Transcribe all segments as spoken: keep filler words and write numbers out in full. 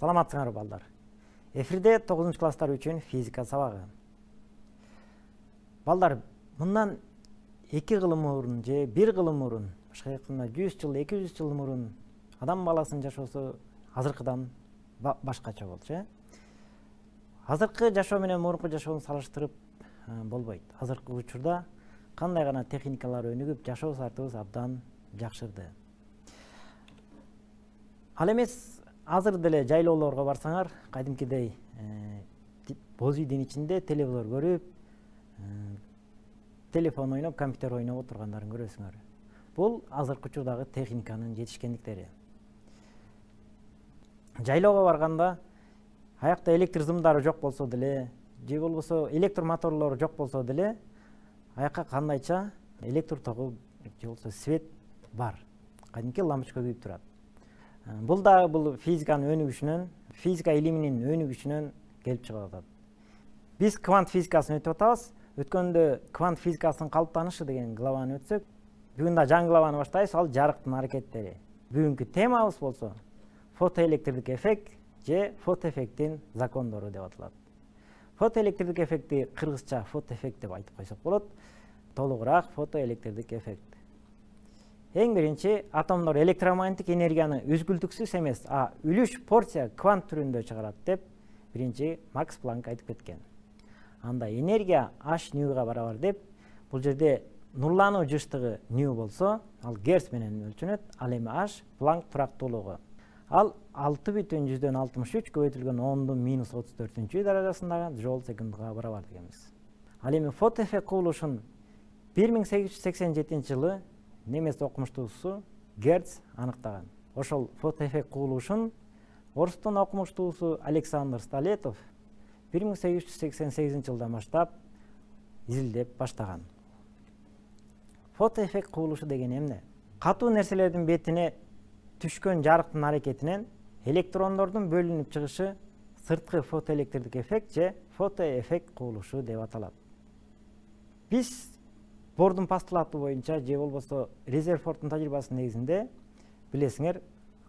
Саламатсыңарбы балдар. Эфирде тогузунчу класстар үчүн физика сабагы. Балдар, мындан эки кылым мурун же бир кылым мурун, башка айтканда жүз жыл, эки жүз жыл мурун адам баласынын жашоосу азыркыдан башкача болчу, э? Азыркы жашоо менен мурунку жашоону салыштырып болбойт. Азыркы учурда кандай гана техникалар өнүгүп, жашоо сартыбыз абдан жакшырды. Ал эмес азыр деле жайлоолорго барсаңар, кадимкидей боз үйдүн ичинде телевизор көрүп, телефон ойноп, компьютер ойноп отургандарын көрөсүңөр. Бул азыркы учурдагы техниканын жетишкендиктери. Жайлоого барганда аякта электр зымдары жок болсо деле, же болбосо электр моторлору жок болсо деле, аякка кандайча электр тогу же болбосо свет бар. Кадимки лампочка күйүп турат. Бул да бул физиканын өнүгүшүнөн, физика илиминин өнүгүшүнөн келип чыгып атат. Биз квант физикасын өтүп атабыз. Өткөндө квант физикасынын калыптанышы деген главаны өтсөк, бүгүн да жаңы главаны баштайбыз, ал жарыктын аракеттери. Бүгүнкү темабыз болсо фотоэлектрдик эффект же фотоэффекттин закондору деп аталат. Фотоэлектрдик эффектти кыргызча фотоэффект деп айтып койсок болот. Толугураак фотоэлектрдик эффект. Эң биринчи, атомдор электромагниттик энергияны үзгүлтүксүз эмес, а үлүш порция квант түрүндө чыгарат деп биринчи Макс Планк айтып кеткен. Анда энергия H ньюга барабар деп, бул жерде нурлануу жыштыгы нью болсо, ал герц менен өлчөнөт, ал эми H Планк турактуулугу. Ал алты бүтүн жүздөн алтымыш үч көбөйтүлгөн ондун минус отуз төртүнчү даражасындагы жол секундга барабар дегенбиз. Ал эми фотоэффект кубулушун бир миң сегиз жүз сексен жетинчи жылы немес окумуштуусу Герц аныктаган. Ошол фотоэффект кубулушун орустун окумуштуусу Александр Столетов бир миң сегиз жүз сексен сегизинчи жылдан баштап изилдеп баштаган. Фотоэффект кубулушу деген эмне? Катуу нерселердин бетине түшкөн жарыктын аракетинен электрондордун бөлүнүп чыгышы сырткы фотоэлектрдик эффект же фотоэффект кубулушу деп аталат. Биз Бордун постулаты боюнча же болбосо Резерфордтун тажрыйбасынын негизинде билесиңер,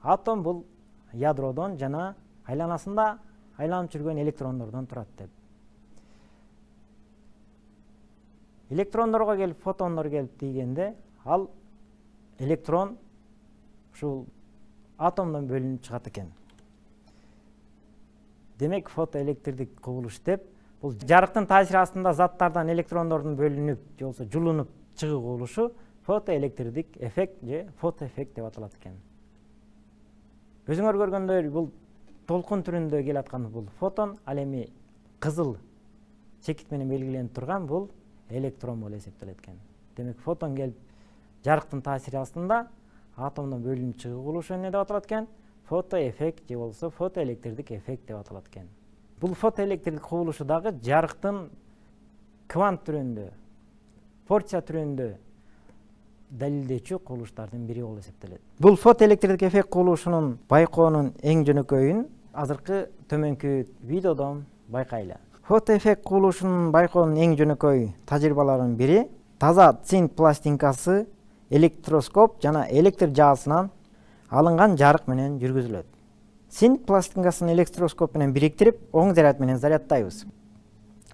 атом бул ядродон жана айланасында айланып жүргөн электрондордон турат деп. Электрондорго келип, фотондор келип тийгенде, ал электрон ушул атомдон бөлүнүп чыгат экен. Демек, фотоэлектрдик кубулуш деп, бул жарыктын таасири астында заттардан электрондордун бөлүнүп, же болбосо жулунуп чыгуу кубулушу фотоэлектрдик эффект же фотоэффект деп аталат экен. Өзүңөр көргөндөй, бул толкун түрүндө келаткан бул фотон, ал эми кызыл чекит менен белгиленип турган бул электрон болуп эсептелет экен. Демек, фотон келип жарыктын таасири астында атомдон бөлүнүп чыгуу кубулушу эмне деп аталат экен? Фотоэффект же болбосо фотоэлектрдик эффект деп аталат экен. Бул фотоэлектрдик кубулушу дагы жарыктын квант түрүндө, порция түрүндө далилдөөчү кубулуштардын бири болуп эсептелет. Бул фотоэлектрдик эффект кубулушунун байкоонун эң жөнөкөйүн азыркы төмөнкү видеодон байкайлы. Фотоэффект кубулушунун байкоонун эң жөнөкөй тажрыйбаларынын бири таза цинк пластинкасы, электроскоп жана электр жаасынан алынган жарык менен жүргүзүлөт. Цинк пластинкасын электроскоп менен бириктирип, оң заряд менен зарядтайбыз.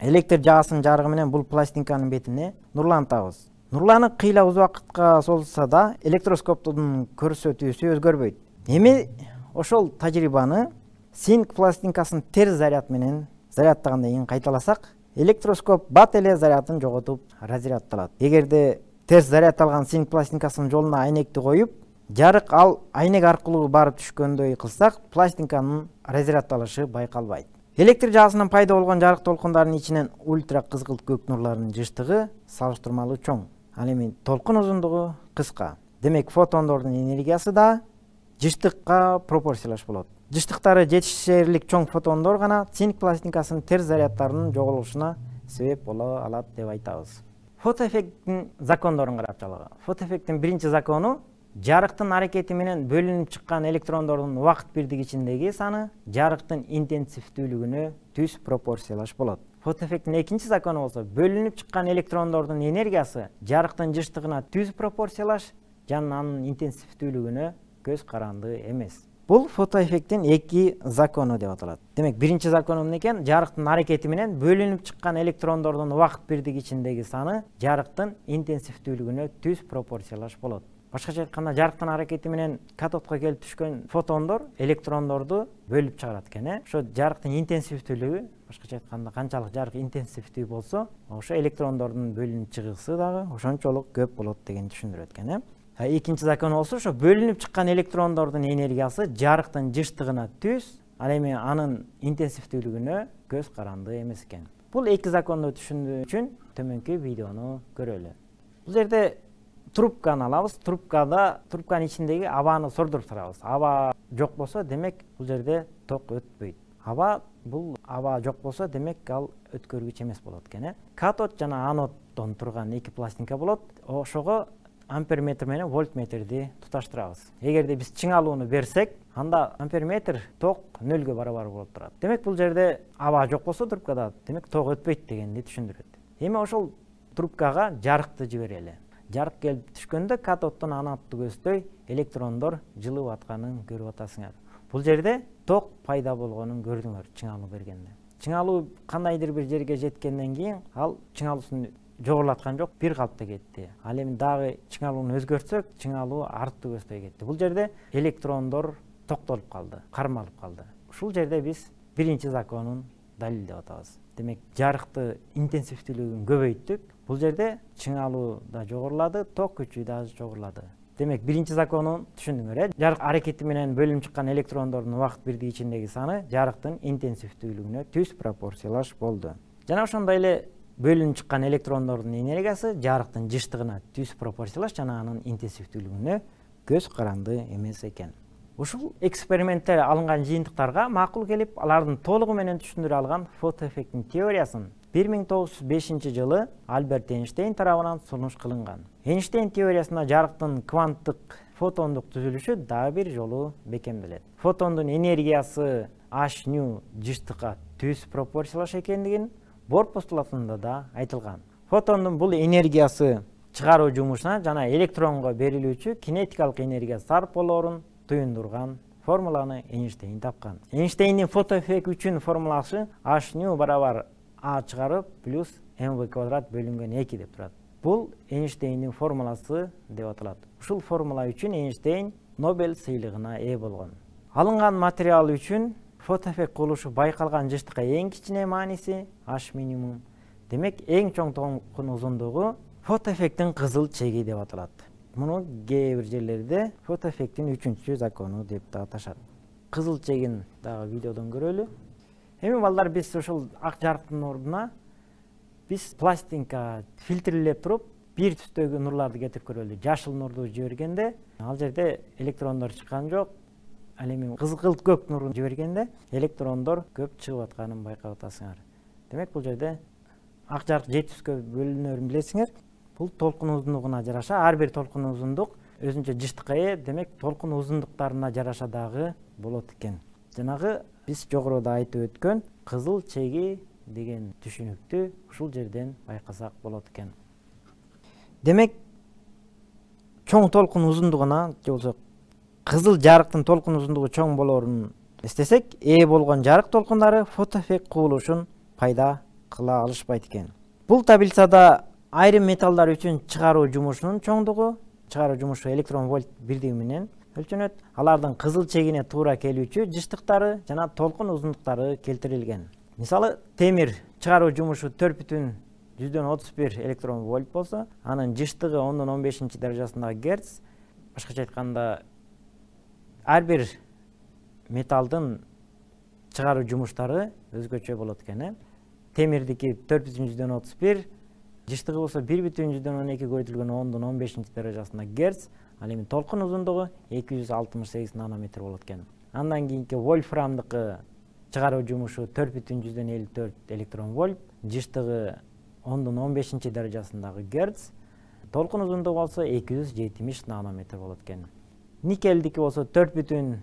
Электр жаасынын жарыгы менен бул пластинканын бетине нурлантабыз. Нурланып кыйла уз убакытка созулса да, электроскоптун көрсөтүүсү өзгөрбөйт. Эми ошол тажрыйбаны цинк пластинкасын терс заряд менен зарядтагандан кийин кайталасак, электроскоп бат эле зарядын жоготуп разрядталат. Эгерде терс зарядталган цинк пластинкасынын жолуна айнекти коюп, жарык ал айнек аркылуу барып түшкөндөй кылсак, пластинканын разрядталышы байкалбайт. Электр жаасынан пайда болгон жарык толкундарынын ичинен ультра кызгылт көк нурларынын жыштыгы салыштырмалуу чоң. Ал эми толкун узундугу кыска. Демек, фотондордун энергиясы да жыштыкка пропорциялаш болот. Жыштыктары жетишерлик чоң фотондор гана цинк пластинкасынын терс зарядтарынын жоголушуна себеп боло алат деп айтабыз. Фотоэффекттин закондорун карап чалгыла. Фотоэффекттин биринчи закону жарыктын аракети менен бөлүнүп чыккан электрондордун убакыт бирдиги ичиндеги саны жарыктын интенсивдүүлүгүнө түз пропорциялаш болот. Фотоэффекттин экинчи закону болсо, бөлүнүп чыккан электрондордун энергиясы жарыктын жыштыгына түз пропорциялаш жана анын интенсивдүүлүгүнө көз каранды эмес. Бул фотоэффекттин эки закону деп аталат. Демек, биринчи закону эмне экен? Жарыктын аракети менен бөлүнүп чыккан электрондордун убакыт бирдиги ичиндеги саны жарыктын интенсивдүүлүгүнө түз пропорциялаш болот. Башкача айтканда, жарыктын аракети менен катодко келип түшкөн фотондор электрондорду бөлүп чыгарат экен, э? Ошо жарыктын интенсивдүүлүгү, башкача айтканда, канчалык жарык интенсивдүү болсо, ошо электрондордун бөлүнүп чыгысы дагы ошончолук көп болот дегенди түшүндүрөт экен, э? Экинчи закон болсо, ошо бөлүнүп чыккан электрондордун энергиясы жарыктын жыштыгына түз, ал эми анын интенсивдүүлүгүнө көз каранды эмес экен. Бул эки законду түшүндүү үчүн төмөнкү видеону көрөлү. Бул жерде трубканы алабыз. Трубкада трубканын ичиндеги абаны сордуруп турабыз. Аба жок болсо, демек бул жерде ток өтпөйт. Аба бул аба жок болсо, демек ал өткөргүч эмес болот экен, э? Катод жана аноддон турган эки пластинка болот. Ошого амперметр менен вольтметрди туташтырабыз. Эгерде биз чыңалууну берсек, анда амперметр ток нөлгө барабар болуп турат. Демек, бул жерде аба жок болсо трубкада, демек ток өтпөйт дегенди түшүндүрөт. Эми ошол трубкага жарыкты жиберели. Жарык келип түшкөндө катоддон анодду көздөй электрондор жылып атканын көрүп атасыңар. Бул жерде ток пайда болгонун көрдүңөр чыңалуу бергенде. Чыңалуу кандайдыр бир жерге жеткенден кийин ал чыңалуусун жогорулаткан жок, бир калыпта кетти. Ал эми дагы чыңалууну өзгөртсөк, чыңалуу артты көздөй кетти. Бул жерде электрондор токтолуп калды, кармалып калды. Ушул жерде биз биринчи законун далилдеп атабыз. Демек, жарыкты интенсивдүүлүгүн көбөйттүк. Бул жерде чыңалуу да жогорулады, ток күчү да жогорулады. Демек, биринчи законун түшүндүңөр, э? Жарык аракети менен бөлүнүп чыккан электрондордун убакыт бирдиги ичиндеги саны жарыктын интенсивдүүлүгүнө түз пропорциялаш болду. Жана ошондой эле бөлүнүп чыккан электрондордун энергиясы жарыктын жыштыгына түз пропорциялаш жана анын интенсивдүүлүгүнө көз каранды эмес экен. Ушул экспериментте алынган жыйынтыктарга макул келип, алардын толугу менен түшүндүрө алган фотоэффекттин теориясын бир миң тогуз жүз бешинчи жылы Альберт Эйнштейн тарабынан сунуш кылынган. Эйнштейн теориясында жарыктын кванттык фотондук түзүлүшү дагы бир жолу бекемделет. Фотондун энергиясы H nu жыштыкка түз пропорциялаш экендигин Бор постулатында да айтылган. Фотондун бул энергиясы чыгаруу жумушуна жана электронго берилүүчү кинетикалык энергия сарп болоорун туюндурган формуланы Эйнштейн тапкан. Эйнштейндин фотоэффект үчүн формуласы H nu барабар А чыгарып плюс mv квадрат бөлүнгөн эки деп турат. Бул Эйнштейндин формуласы деп аталат. Ушул формула үчүн Эйнштейн Нобель сыйлыгына ээ болгон. Алынган материал үчүн фотоэффект курулушу байкалган жыштыкка эң кичине мааниси H минимум. Демек, эң чоң толкун узундугу фотоэффекттин кызыл чеги деп аталат. Муну кээ бир жерлерде фотоэффекттин үчүнчү закону деп да аташат. Кызыл чегин дагы видеодон көрөлү. Эми балдар, биз ушул ак жарыктын ордуна биз пластинка фильтрлеп туруп, бир түстөгү нурларды кетирип көрөлү. Жашыл нурду жибергенде, ал жерде электрондор чыккан жок. Ал эми кызгылт көк нурун жибергенде электрондор көп чыгып атканын байкап атасыңар. Демек, бул жерде ак жарык жети түскө бөлүнөрүн билесиңер. Бул толкун узундугуна жараша, ар бир толкун узундук өзүнчө жыштыкка ээ, демек толкун узундуктарына жараша дагы болот экен. Жанагы биз жогоруда айтып өткөн кызыл чеги деген түшүнүктү ушул жерден байкасак болот экен. Демек, чоң толкун узундугуна же болсо кызыл жарыктын толкун узундугу чоң болоорун эстесек, ээ болгон жарык толкундары фотоэффект кубулушун пайда кыла алышпайт экен. Бул таблицада айрым металлдар үчүн чыгаруу жумушунун чоңдугу, чыгаруу жумушу электрон вольт бирдиги менен өлчөнөт. Алардын кызыл чегине туура келүүчү жыштыктары жана толкун узундуктары келтирилген. Мисалы, темир чыгаруу жумушу төрт бүтүн жүздөн отуз бир электрон вольт болсо, анын жыштыгы ондон он бешинчи даражасындагы герц. Башкача айтканда, ар бир металдын чыгаруу жумуштары өзгөчө болот экен. Темирдики төрт бүтүн жүздөн отуз бир, жыштыгы болсо бир бүтүн жүздөн он эки көбөйтүлгөн ондон он бешинчи даражасындагы герц. Ал эми толкун узундугу эки жүз алтымыш сегиз нанометр болот экен. Андан кийинки вольфрамдыкы чыгаруу жумушу төрт бүтүн жүздөн элүү төрт электрон вольт, жыштыгы ондон он бешинчи даражасындагы герц. Толкун узундугу болсо эки жүз жетимиш нанометр болот экен. Никелдики болсо төрт бүтүн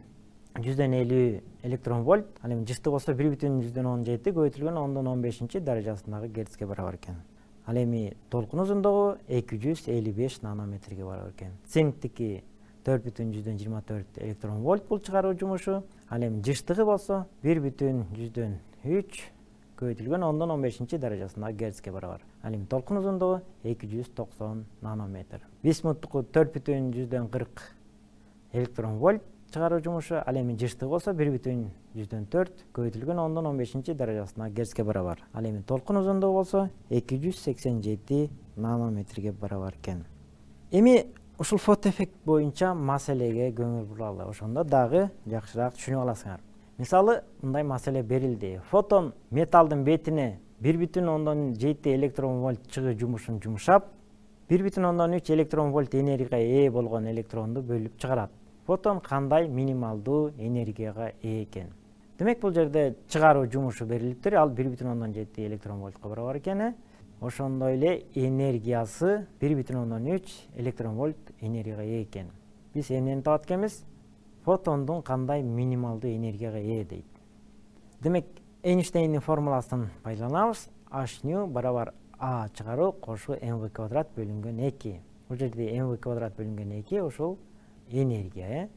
жүздөн элүү электрон вольт, ал эми жыштыгы болсо бир бүтүн жүздөн он жети көбөйтүлгөн ондон он бешинчи даражасындагы герцке барабар экен. Ал эми толкун узундугу эки жүз элүү беш нанометрге барабар экен. Цинктики төрт бүтүн жүздөн жыйырма төрт электрон вольт бул чыгаруу жумушу. Ал эми жыштыгы болсо бир бүтүн жүздөн үч көбөйтүлгөн ондон он бешинчи даражасындагы герцке барабар. Ал эми толкун узундугу эки жүз токсон нанометр. Висмуттуку төрт бүтүн жүздөн кырк электрон вольт чыгаруу жумушу. Ал эми жыштыгы болсо бир бүтүн жүздөн төрт көбөйтүлгөн ондон он бешинчи даражасындагы герцке барабар. Ал эми толкун узундугу болсо эки жүз сексен жети нанометрге барабар экен. Эми ушул фотоэффект боюнча маселеге көңүл буралы. Ошондо дагы жакшыраак түшүнүп аласыңар. Мисалы, мындай маселе берилди. Фотон металдын бетине бир бүтүн ондон жети электрон вольт чыгуу жумушун жумшап, бир бүтүн ондон үч электрон вольт энергияга ээ болгон электронду бөлүп чыгарат. Фотон кандай минималдуу энергияга ээ экен? Демек, бул жерде чыгаруу жумушу берилиптир. Ал бир бүтүн ондон жети электрон вольтко барабар экен. Ошондой эле энергиясы бир бүтүн ондон үч электрон вольт энергияга ээ экен. Биз эмнени табат экенбиз? Фотондун кандай минималдуу энергияга ээ дейт. Демек, Эйнштейндин формуласын пайдаланабыз. H nu барабар А чыгаруу кошу mv квадрат бөлүнгөн эки. Бул жерде mv квадрат бөлүнгөн эки ушул энергия, э?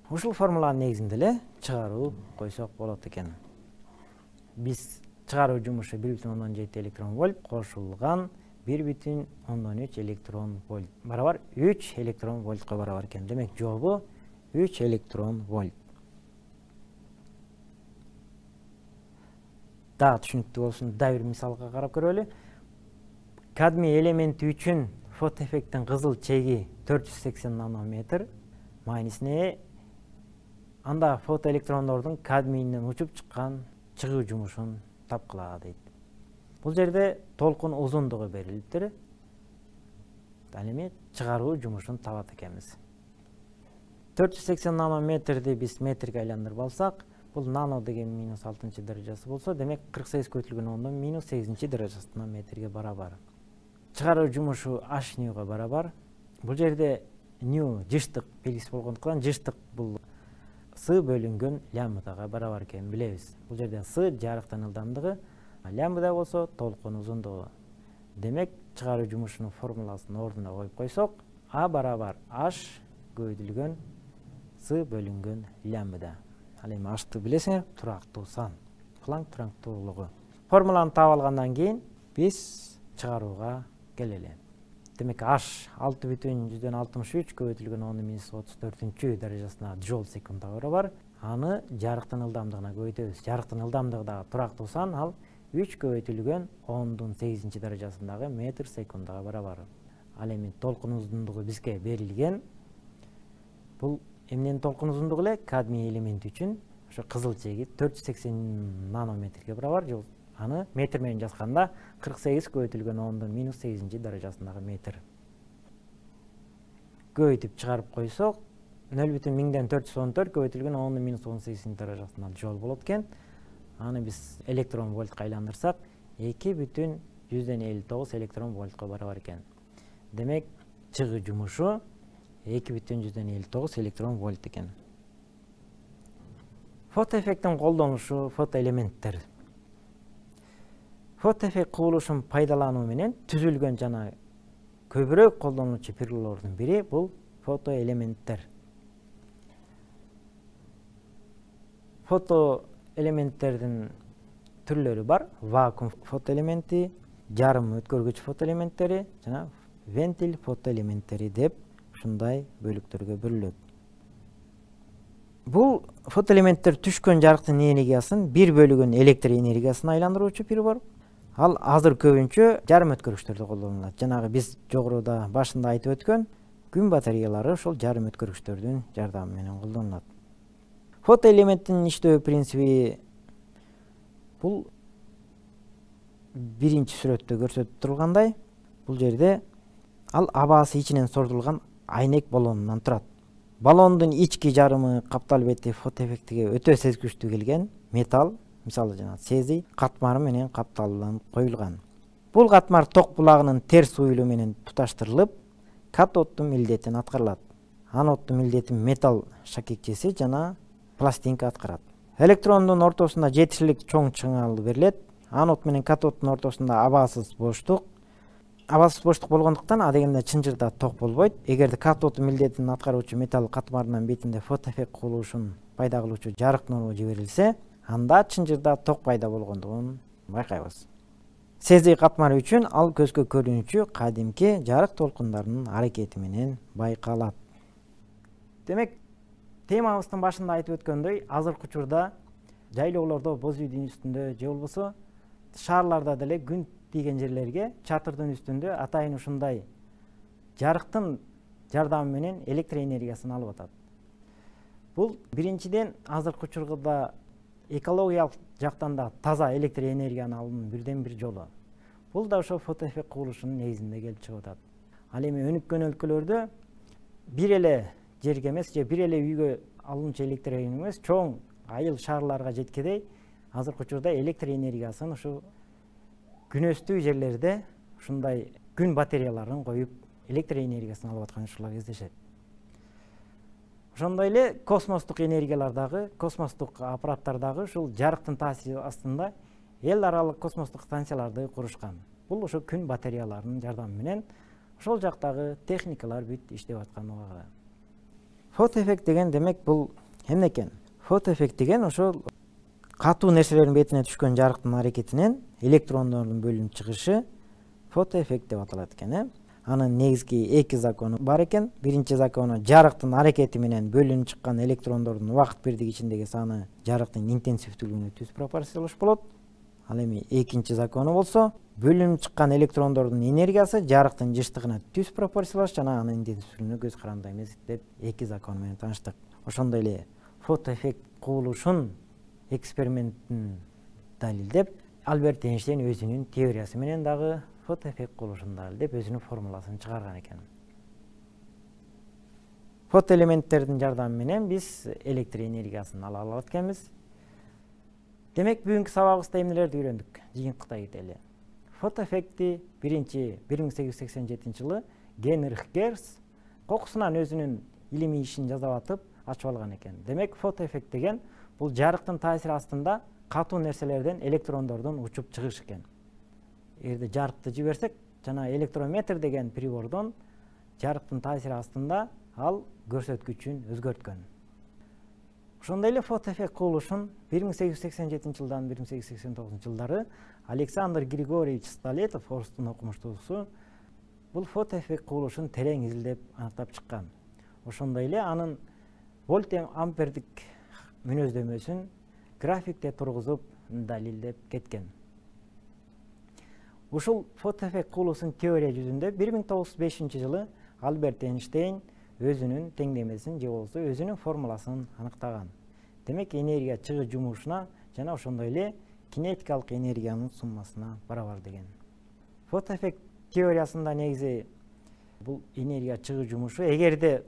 Ушул формуланын негизинде эле чыгаруу койсок болот экен. Биз чыгаруу жумушу бир бүтүн ондон жети электрон вольт кошулган бир бүтүн ондон үч электрон вольт барабар үч электрон вольтко барабар экен. Демек, жообу үч электрон вольт. Дагы түшүнүктүү болсун, дагы бир мисалга карап көрөлү. Кадмий элементи үчүн фотоэффекттин кызыл чеги төрт жүз сексен нанометр маанисине анда фотоэлектрондордун кадмийинен учуп чыккан чыгуу жумушун тапкыла дейт. Бул жерде толкун узундугу берилиптир. Ал эми чыгаруу жумушун табат экенбиз. төрт жүз сексен нанометрди биз метрге айландырып алсак, бул нано деген минус алтынчы даражасы болсо, демек кырк сегиз көбөйтүлгөн ондон минус сегизинчи даражасына метрге барабар. Чыгаруу жумушу H nu'га барабар. Бул жерде nu жыштык белгиси болгондуктан жыштык бул С бөлүнгөн лямбдага барабар экенин билебиз. Бул жерде С жарыктын ылдамдыгы, лямбда болсо толкун узундугу. Демек, чыгаруу жумушунун формуласын ордуна коюп койсок, А барабар H көбөйтүлгөн С бөлүнгөн лямбда. Ал эми H'ты билесиңер, турактуу сан, Планк турактуулугу. Формуланы таап алгандан кийин биз чыгарууга келели. Демек, H алты бүтүн жүздөн алтымыш үч көбөйтүлгөн ондон минус отуз төртүнчү даражасына джоул секундга барабар. Аны жарыктын ылдамдыгына көбөйтөбүз. Жарыктын ылдамдыгы дагы турактуу сан, ал үч көбөйтүлгөн ондон сегизинчи даражасындагы метр секундга барабар. Ал эми толкун узундугу бизге берилген. Бул эмненин толкун узундугу эле? Кадмий элементи үчүн ошо кызыл чеги төрт жүз сексен нанометрге барабар. Аны метр менен жазганда кырк сегиз көбөйтүлгөн ондон минус сегизинчи даражасындагы метр. Көбөйтүп чыгарып койсок, нөл бүтүн миңден төрт жүз он төрт көбөйтүлгөн ондон минус он сегизинчи даражасында жол болот экен. Аны биз электрон вольтка айландырсак, эки бүтүн жүздөн элүү тогуз электрон вольтко барабар экен. Демек, чыгуу жумушу эки бүтүн жүздөн элүү тогуз электрон вольт экен. Фотоэффекттин колдонушу фотоэлементтер. Фотоэффект кубулушун пайдалануу менен түзүлгөн жана көбүрөөк колдонулчу пирулордун бири бул фотоэлементтер. Фотоэлементтердин түрлөрү бар. Вакуум фотоэлементи, жарым өткөргүч фотоэлементтери жана вентиль фотоэлементтери деп ушундай бөлүктөргө бөлүнөт. Бул фотоэлементтер түшкөн жарыктын энергиясын бир бөлүгүн электр энергиясына айландыруучу прибор. Ал азыр көбүнчө жарым өткөргүчтөрдө колдонулат. Жанагы биз жогоруда башында айтып өткөн күн батареялары ошол жарым өткөргүчтөрдүн жардамы менен колдонулат. Фотоэлементтин иштөө принциби бул биринчи сүрөттө көрсөтүп турулгандай, бул жерде ал абасы ичинен сордулган айнек баллонунан турат. Баллондун ички жарымы каптал бети фотоэффектиге өтө сезгүчтүү келген металл, мисалы жана цезий катмары менен капталып коюлган. Бул катмар ток булагынын терс уюлу менен туташтырылып, катоддун милдетин аткарылат. Аноддун милдетин металл шакекчеси жана пластинка аткарат. Электрондун ортосунда жетишилик чоң чыңал берилет. Анод менен катоддун ортосунда абасыз боштук абалсыз боштук болгондуктан адегенде чынжырда ток болбойт. Эгерде катод милдетин аткаруучу металл катмарынын бетинде фотоэффект курулушун пайда кылуучу жарык нуру жиберилсе, анда чынжырда ток пайда болгондугун байкайбыз. Цезий катмары үчүн ал көзгө көрүнүүчү кадимки жарык толкундарынын аракети менен байкалат. Демек, темабыздын башында айтып өткөндөй, азыркы учурда жайлоолордо, боз үйдүн үстүндө же болбосо шаарларда деле күн тийген жерлерге чатырдын үстүндө атайын ушундай жарыктын жардамы менен электр энергиясын алып атат. Бул биринчиден азыркы учурда экологиялык жактан да таза электр энергияны алуунун бирден бир жолу. Бул да ошо фотоэффект курулушунун негизинде келип чыгып атат. Ал эми өнүккөн өлкөлөрдө бир эле жерге эмес, же бир эле үйгө алынчу электр энергия эмес, чоң айыл шаарларга жеткедей азыркы учурда электр энергиясын ушу күнөстүү жерлерде ушундай күн батареяларын коюп электр энергиясын алып аткан учурлар кездешет. Ошондой эле космостук энергиялар дагы, космостук аппараттар дагы ушул жарыктын таасири астында эл аралык космостук станцияларды курушкан. Бул ошо күн батареяларынын жардамы менен ошол жактагы техникалар бүт иштеп аткан убагында. Фотоэффект деген демек бул эмне экен? Фотоэффект деген ошол катуу нерселердин бетине түшкөн жарыктын аракетинен электрондордун бөлүнүп чыгышы фотоэффект деп аталат экен, э? Анын негизги эки закону бар экен. Биринчи закону жарыктын аракети менен бөлүнүп чыккан электрондордун убакыт бирдиги ичиндеги саны жарыктын интенсивдүүлүгүнө түз пропорциялаш болот. Ал эми экинчи закону болсо, бөлүнүп чыккан электрондордун энергиясы жарыктын жыштыгына түз пропорциялаш жана анын интенсивдүүлүгүнө көз каранды эмес деп эки закон менен тааныштык. Ошондой эле фотоэффект курулушун экспериментин далилдеп, Альберт Эйнштейн өзүнүн теориясы менен дагы фотоэффект курулушун далилдеп өзүнүн формуласын чыгарган экен. Фотоэлементтердин жардамы менен биз электр энергиясын ала алат экенбиз. Демек, бүгүнкү сабагыбызда эмнелерди үйрөндүк? Жыйынтыктай кетели. Фотоэффектти биринчи бир миң сегиз жүз сексен жетинчи жылы Генрих Герц кокусунан өзүнүн илимий ишин жазып атып ачып алган экен. Демек, фотоэффект деген бул жарыктын таасири астында катуу нерселерден электрондордун учуп чыгышы экен. Эгерде жарыкты жиберсек, жана электрометр деген прибордон жарыктын таасири астында ал көрсөткүчүн өзгөрткөн. Ошондой эле фотоэффект курулушун бир миң сегиз жүз сексен жетинчи жылдан бир миң сегиз жүз сексен тогузунчу жылдары Александр Григорьевич Столетов, орустун окумуштуусу, бул фотоэффект курулушун терең изилдеп аныктап чыккан. Ошондой эле анын вольт ампердик мүнөздөмөсүн графикте тургузуп далилдеп кеткен. Ушул фотоэффект курулушунун теория жүзүндө бир миң тогуз жүз бешинчи жылы Альберт Эйнштейн өзүнүн теңдемесин же болбосо өзүнүн формуласын аныктаган. Демек, энергия чыгуу жумушуна жана ошондой эле кинетикалык энергиянын суммасына барабар деген. Фотоэффект теориясында негизи бул энергия чыгуу жумушу эгерде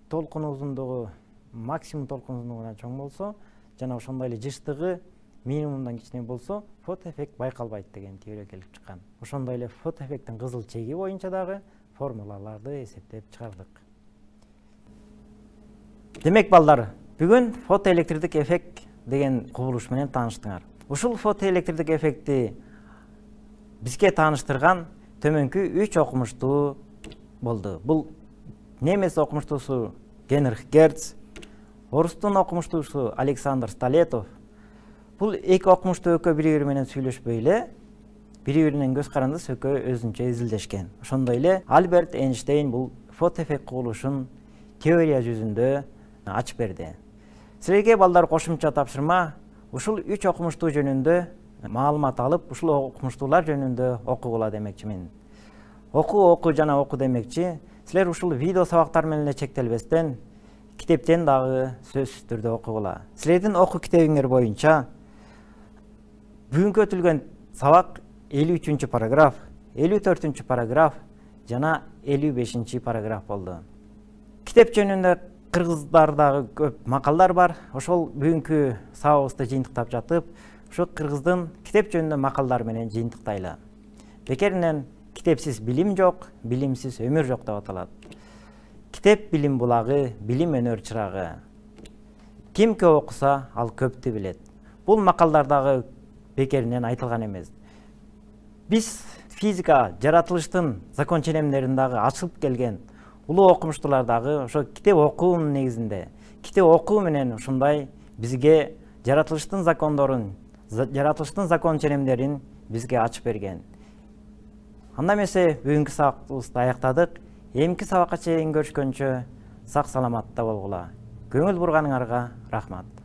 толкун узундугу максимум толкун узундугунан чоң болсо жана ошондой эле жыштыгы минимумдан кичине болсо, фотоэффект байкалбайт деген теория келип чыккан. Ошондой эле фотоэффекттин кызыл чеги боюнча дагы формулаларды эсептеп чыгардык. Демек, балдар, бүгүн фотоэлектрдик эффект деген кубулуш менен тааныштыңар. Ушул фотоэлектрдик эффектти бизге тааныштырган төмөнкү үч окумуштуу болду. Бул немец окумуштуусу Генрих Герц, орустун окумуштуусу Александр Столетов. Бул эки окумуштуу экөө бири-бири менен сүйлөшпөй эле, бири-биринен көз карандыс экөө өзүнчө изилдешкен. Ошондой эле Альберт Эйнштейн бул фотоэффект курулушун теория жүзүндө ачып берди. Силерге, балдар, кошумча тапшырма, ушул үч окумуштуу жөнүндө маалымат алып, ушул окумуштуулар жөнүндө окугула демекчимин. Оку, оку жана оку демекчи, силер ушул видео сабактар менен эле чектелбестен, китептен дагы сөзсүз түрдө окугула. Силердин оку китебиңер боюнча бүгүнкү өтүлгөн сабак элүү үчүнчү параграф, элүү төртүнчү параграф жана элүү бешинчи параграф болду. Китеп жөнүндө кыргыздардагы көп макалдар бар. Ошол бүгүнкү сабагыбызды жыйынтыктап жатып, ошо кыргыздын китеп жөнүндө макалдар менен жыйынтыктайлы. Бекеринен китепсиз билим жок, билимсиз өмүр жок деп аталат. Китеп билим булагы, билим өнөр чырагы. Ким көп окуса, ал көптү билет. Бул макалдардагы бекеринен айтылган эмес. Биз физика жаратылыштын закон ченемдерин дагы ачылып келген улуу окумуштуулар дагы ошо китеп окуунун негизинде китеп окуу менен ушундай бизге жаратылыштын закондорун жаратылыштын закон ченемдерин бизге ачып берген. Анда эмесе бүгүнкү сабакыбызды аяктадык. Эмки сабакка чейин көрүшкөнчө сак саламатта болгула. Көңүл бурганыңарга рахмат.